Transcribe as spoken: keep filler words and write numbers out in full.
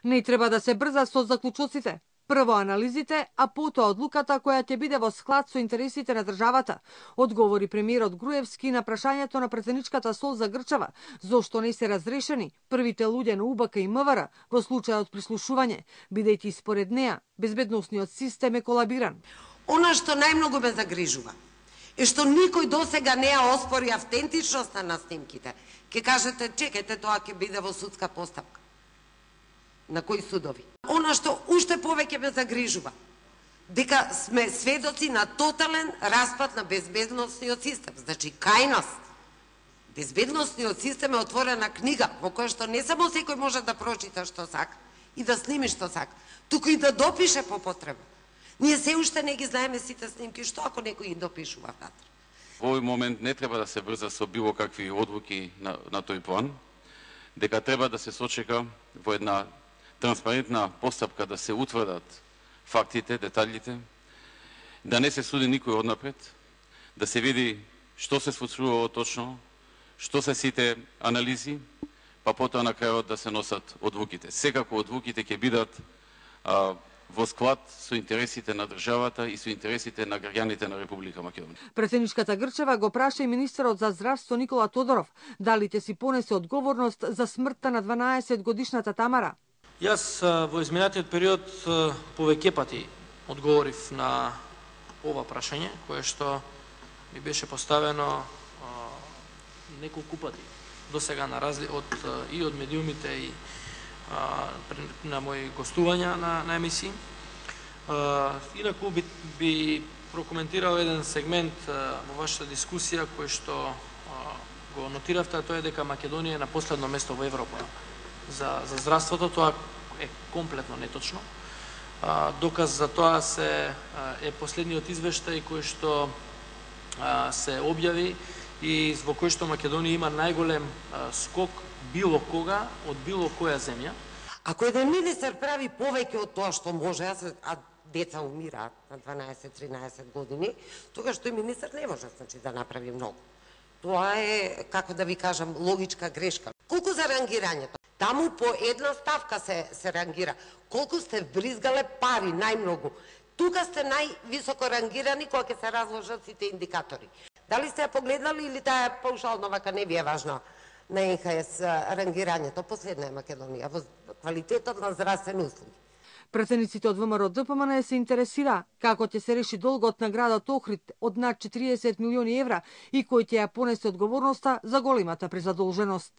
Не треба да се брза со заклучоците. Прво анализите, а потоа одлуката која ќе биде во склад со интересите на државата, одговори премиерот Груевски на прашањето на претседничката Сол за Грчева, зошто не се разрешени првите луѓе на У Б К и М В Р во случајот прислушување, бидејќи според неа безбедносниот систем е колабиран. Она што најмногу ме загрижува е што никој досега не ја оспори автентичноста на снимките. Ке кажете, чекајте, тоа ќе биде во судска постапка. На кои судови? Она што уште повеќе ме загрижува, дека сме сведоци на тотален распад на безбедносниот систем. Значи, кај нас безбедносниот систем е отворена книга во која што не само секој може да прочита што сака и да сними што сака, туку и да допише по потреба. Ние се уште не ги знаеме сите снимки, што ако некој ги допишува внатре. Во овој момент не треба да се брза со било какви одлуки на, на тој план, дека треба да се сочека во една транспарентна постапка да се утврдат фактите, деталите, да не се суди никој однапред, да се види што се случувало точно, што се сите анализи, па потоа на крајот да се носат одлуките. Секако одлуките ќе бидат а, во склад со интересите на државата и со интересите на граѓаните на Република Македонија. Претседничката Грчева го праша и министерот за здравство Никола Тодоров дали ќе си понесе одговорност за смртта на дванаесет годишната Тамара. Јас во изминатиот период повеќе пати одговорив на ова прашање, кое што ми беше поставено неколку пати до сега на разли од и од медиумите и а, на мои гостувања на, на емисии. А, инаку би, би прокоментирал еден сегмент а, во вашата дискусија кој што а, го нотиравте, тоа е дека Македонија е на последно место во Европа за, за здравството. Тоа е комплетно неточно. А, доказ за тоа се е последниот извештај кој што а, се објави и во кој што Македонија има најголем а, скок било кога од било која земја. Ако еден министер прави повеќе од тоа што може, а деца умираат на дванаесет-тринаесет години, тогаш тој министер не може, значи, да направи многу. Тоа е, како да ви кажам, логичка грешка. Колку за рангирањето? Таму по една ставка се, се рангира. Колку сте вбризгале пари, најмногу. Тука сте највисоко рангирани кога ќе се разложат сите индикатори. Дали сте ја погледнали или таа паушално вака не ви е важно на Н Х С рангирањето? Последна е Македонија во квалитетот на здравствени услуги. Претседниците од В М Р Д П М Н се интересира како ќе се реши долгот на градот Охрид од над четириесет милиони евра и кој ќе ја понесе одговорноста за големата презадолженост.